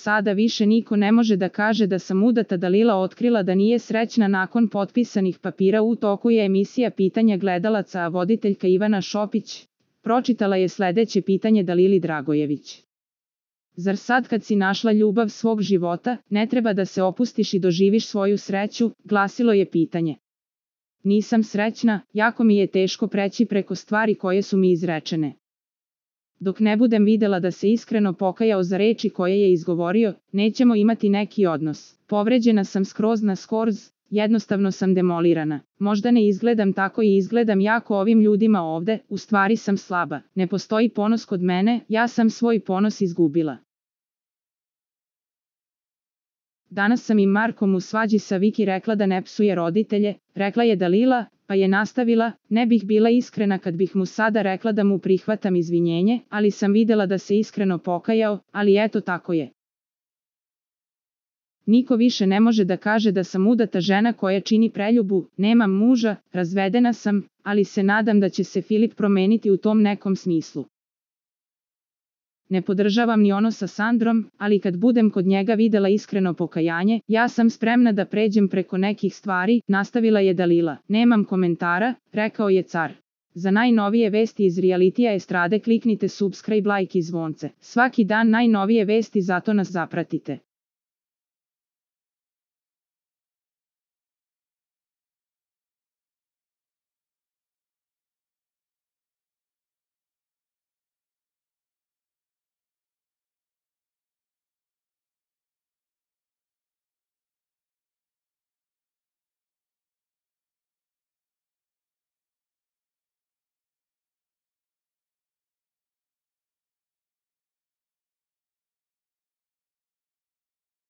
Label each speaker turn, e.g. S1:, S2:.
S1: sada više niko ne može da kaže da sam udata. Dalila otkrila da nije srećna nakon potpisanih papira. U toku je emisija Pitanja gledalaca, a voditeljka Ivana Šopić pročitala je sledeće pitanje Dalili Dragojević. Zar sad kad si našla ljubav svog života, ne treba da se opustiš i doživiš svoju sreću, glasilo je pitanje. Nisam srećna, jako mi je teško preći preko stvari koje su mi izrečene. Dok ne budem videla da se iskreno pokajao za reči koje je izgovorio, nećemo imati neki odnos. Povređena sam skroz na skorz, jednostavno sam demolirana. Možda ne izgledam tako i izgledam jako ovim ljudima ovde, u stvari sam slaba. Ne postoji ponos kod mene, ja sam svoj ponos izgubila. Danas sam i Markom u svađi sa Viki rekla da ne psuje roditelje, rekla je Dalila, pa je nastavila, ne bih bila iskrena kad bih mu sada rekla da mu prihvatam izvinjenje, ali sam videla da se iskreno pokajao, ali eto tako je. Niko više ne može da kaže da sam udata žena koja čini preljubu, nemam muža, razvedena sam, ali se nadam da će se Filip promeniti u tom nekom smislu. Ne podržavam ni ono sa Sandrom, ali kad budem kod njega videla iskreno pokajanje, ja sam spremna da pređem preko nekih stvari, nastavila je Dalila. Nemam komentara, rekao je car. Za najnovije vesti iz realitija estrade kliknite subscribe, like i zvonce. Svaki dan najnovije vesti, zato nas zapratite.